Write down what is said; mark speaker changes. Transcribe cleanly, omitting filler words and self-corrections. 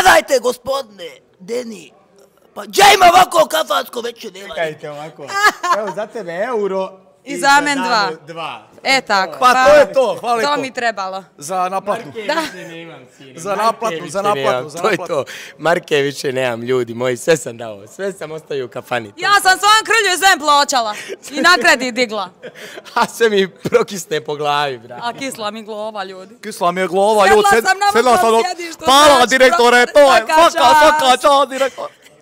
Speaker 1: Gledajte, gospodine, Deni, pa gdje ima ovako kafansko veće nema?
Speaker 2: Čekajte ovako, evo za tebe euro
Speaker 3: i za men dva. E tako.
Speaker 4: Pa to je to, hvala lijepo.
Speaker 3: To mi trebalo.
Speaker 4: Za naplatu. Za naplatu.
Speaker 1: To je to. Marke više nemam, ljudi moji, sve sam dao, sve sam ostavio u kafani.
Speaker 3: Ja sam svom krlju zem plaćala i na kredit digla.
Speaker 1: A sve mi prokisne po glavi, bra.
Speaker 3: A kisla mi glova, ljudi.
Speaker 4: Kisla mi je glova, ljudi.
Speaker 3: Sedla sam na vrtom sjedištu.
Speaker 4: Hvala, direktore, to je. Svaka, čao, direktor.